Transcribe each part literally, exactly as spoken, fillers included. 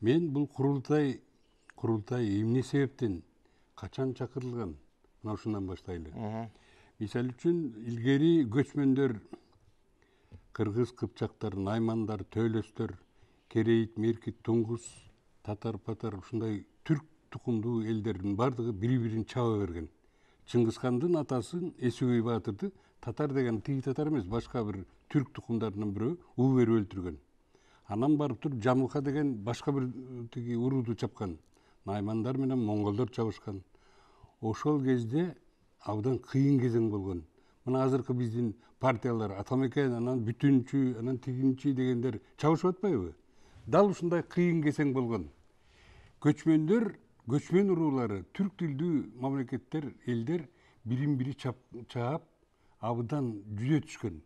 мен бул курултай курултай эмне себептен качан чакырылган мына ушундан баштайлы. Мисалы үчүн илгери көчмөндөр кыргыз, кыпчактар, наймандар, төлөстөр, керейит, меркит, туңгус, татар, патар ушундай түрк тукумдуу элдердин бардыгы бири-бирин чаба берген. Чыңгызхандын атасын Эсүгөй Баатырды татар деген тиги татар эмес, башка бир түрк тукумдарынан бирөө уу берип өлтүргөн. Анан барып туруп Жамылка деген башка бир тиги урууду чапкан. Наймандар менен монголдор чабышкан. Ошол кезде абдан кыйын кезең болгон. Мына азыркы биздин партиялар Атамекен, анан Бүтүнчү, анан Тигинчи дегендер чабышып атпайбы? Дал ушундай кыйын кезең болгон. Көчмөндөр, көчмөн уруулары, түрк тилдүү мамлекеттер, элдер бирин-бири чаап, абдан жүзө түшкөн.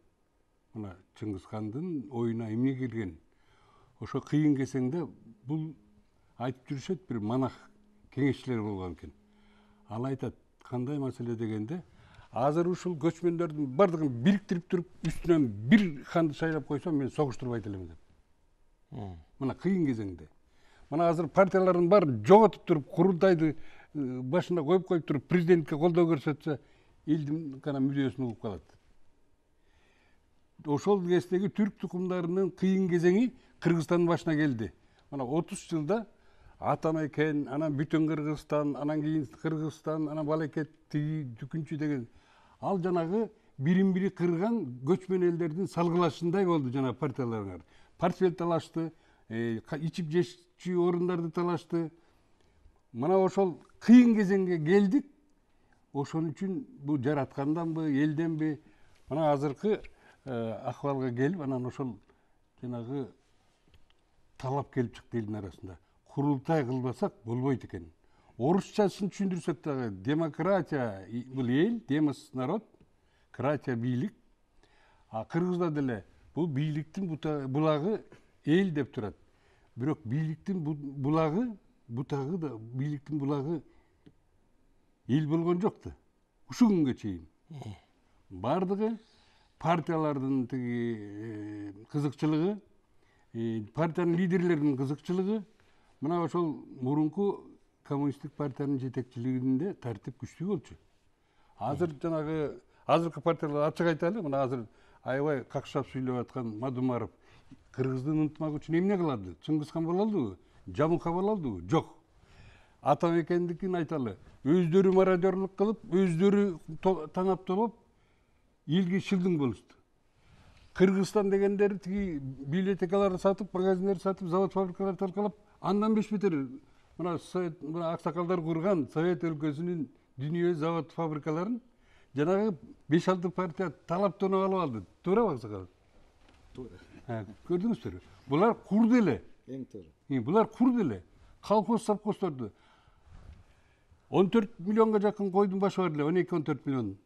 Мына Чыңгызхандын оюна эмне келген? Ошо кыйын кезеңде бул айтып жүрүшөт, бир манах кеңешчилер болгон экен. Ал айтат, кандай маселе дегенде, азыр ушул көчмөндөрдүн бардыгын бириктирип туруп, үстүнөн бир ханды шайлап койсом, мен согуштурбайт элем деп. Мына кыйын кезеңде. Мына азыр партиялардын баарын жоготуп туруп, курултайды башына коюп коюп туруп, президентке колдоо көрсөтсө, элдин гана мүдөөсүн угуп калат. Ошол кездеги түрк тукумдарынын кыйын кезеңи Кыргызстандын башына келди. Мына отуз жылда Атамекен, анан бүтүн Кыргызстан, анан кийин Кыргызстан, анан Балекет, тиги, Дүкүнчү деген ал жанагы бирин-бири кырган көчмөн элдердин салгылашындай болду жана партияларга. Портфель талашты, ичип жешчү орундарды талашты. Мына ошол кыйын кезеңге келдик. Ошон үчүн бул жаратканданбы, элденби? Мына азыркы акыбалга келип, анан ошол жанагы талап келип чыкты элдин арасында. Курултай кылбасак болбойт экен. Орусчасын түшүндүрсөк дагы, демократия бул эл, демос народ, кратия бийлик. А кыргызда деле бул бийликтин булагы эл деп турат. Бирок бийликтин булагы, бутагы да бийликтин булагы эл болгон жок да. Ушул күнгө чейин. Бардыгы партиялардын тиги кызыкчылыгы, партиянын лидерлеринин кызыкчылыгы, мына ошол мурунку коммунисттик партиянын жетекчилигинде тартип күчтүү болчу. Азыр жанагы азыркы партиялар ачык айталы, мына азыр аябай какшап сүйлөп аткан Мадумаров Кыргыздын ынтымагы үчүн эмне кылады? Чыңгызхан боло алдыбы? Жамылка боло алдыбы? Жок. Атамекендикин айталы, өздөрү мародерлук кылып, өздөрү танаптолоп, элге шылдың болушту. Кыргызстан дегендер тиги библиотекаларды сатып, магазиндерди сатып, завод фабрикаларды талкалап, андан беш бетер мына совет мына аксакалдар курган Совет өлкөсүнүн дүнүйө завод фабрикаларын жанагы беш алты партия талап тоноп алып алды. Туурабы аксакал? Туура. Көрдүңүздөрбү? Булар курду эле. Эң туура. Булар курду эле. Колхоз совхоздорду он төрт миллионго жакын койдун башы бар эле, он эки он төрт миллион.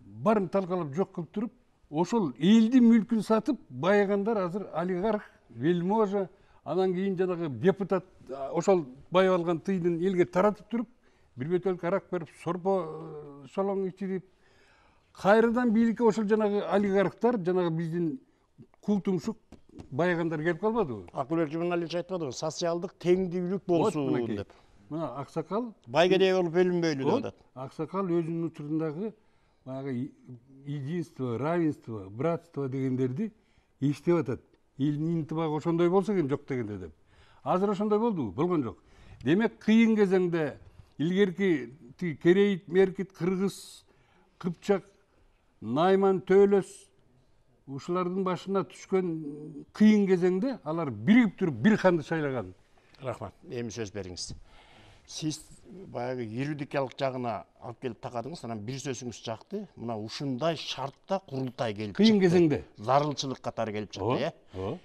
Барын талкалап жок кылып туруп, ошол элдин мүлкүн сатып, байыгандар азыр олигарх, вельможа, анан кийин жанагы депутат ошол байып алган тыйдын элге таратып туруп, бир бөтөлкө арак берип, сорпо шолоң ичирип, кайрадан бийликке ошол жанагы олигархтар, жанагы биздин кул тумшук байыгандар келип калбадыбы? Акылбек Жуманалиевич айтпадыбы? Социалдык теңдүүлүк болсун деп. Мына аксакал байгедей болуп бөлүнбөйлү деп атат. Аксакал өзүнүн учурундагы баягы единство, равенство, братство дегендерди эчтеп атат. Элдин интибагы ошондой болсо экен жок дегенде деп. Азыр ошондой болдубу? Болгон жок. Демек кыйын кезеңде илгерки керейит, меркит, кыргыз, кыпчак, найман, төлөс ушулардын башына түшкөн кыйын кезеңде алар биригип туруп бир ханды шайлаган. Рахмат. Эми сөз бериңиз. Сиз баягы юридикалык жагына алып келип такадыңыз, анан бир сөзүңүз жакты. Мына ушундай шартта курултай келип чыкты. Кыйын кезеңде. Зарылчылык катары келип чыкты, э?